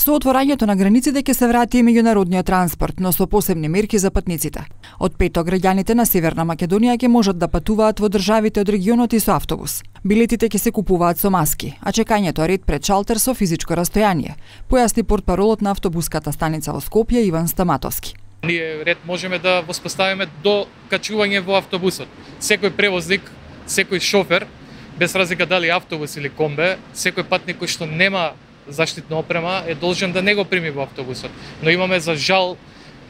Со отворањето на границите ќе се врати и меѓународниот транспорт, но со посебни мерки за патниците. Од петок граѓаните на Северна Македонија ќе можат да патуваат во државите од регионот и со автобус. Билетите ќе се купуваат со маски, а чекањето е ред пред шалтер со физичко растојание, појасни портпаролот на автобуската станица во Скопје Иван Стаматовски. Ние ред можеме да воспоставиме до качување во автобусот. Секој превозник, секој шофер, без разлика дали автобус или комбе, секој патник кој што нема заштитна опрема е должен да не го прими во автобусот. Но имаме за жал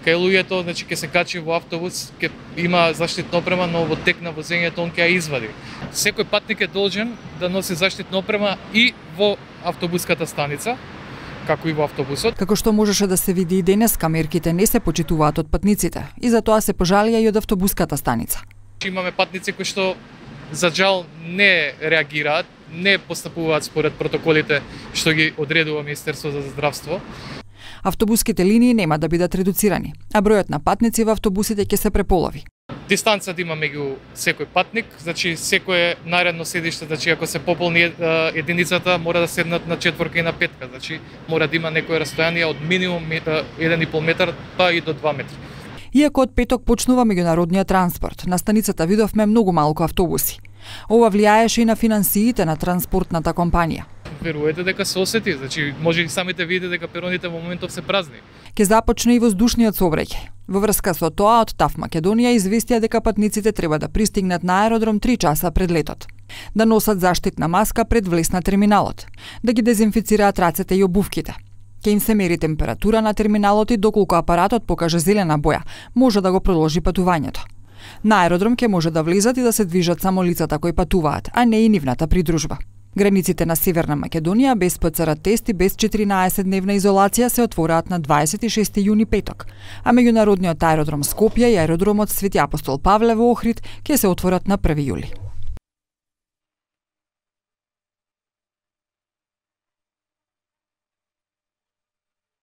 кај луѓето, значи ќе се качи во автобус, ќе има заштитна опрема, но во тек на возењето он ќе ја извади. Секој патник е должен да носи заштитна опрема и во автобуската станица, како и во автобусот. Како што можеше да се види и денеска, мерките не се почитуваат од патниците и затоа се пожалија и од автобуската станица. Имаме патници кои што за жал не реагираат, не постапуваат според протоколите што ги одредува Министерството за здравство. Автобуските линии нема да бидат редуцирани, а бројот на патници во автобусите ќе се преполови. Дистанца да има меѓу секој патник, значи секое наредно седиште, значи ако се пополни единицата, мора да седнат на четворка и на петка, значи мора да има некое растојание од минимум 1,5 метар па и до 2 метри. Иако од петок почнува меѓународниот транспорт, на станицата видовме многу малку автобуси. Ова влијаеше и на финансиите на транспортната компанија. Верувате дека се осети, значи може и самите видите дека пероните во моментов се празни. Ке започне и воздушниот сообраќај. Во врска со тоа, од ТАФ Македонија известија дека патниците треба да пристигнат на аеродром 3 часа пред летот, да носат заштитна маска пред влез на терминалот, да ги дезинфицираат рацете и обувките. Ке им се мери температура на терминалот и доколку апаратот покаже зелена боја, може да го продолжи патувањето. На аеродром ќе може да влизат и да се движат само лицата кои патуваат, а не и нивната придружба. Границите на Северна Македонија без ПЦР тест и без 14-дневна изолација се отвораат на 26 јуни петок, а меѓународниот аеродром Скопје и аеродромот Свети Апостол Павле во Охрид ќе се отворат на 1 јули.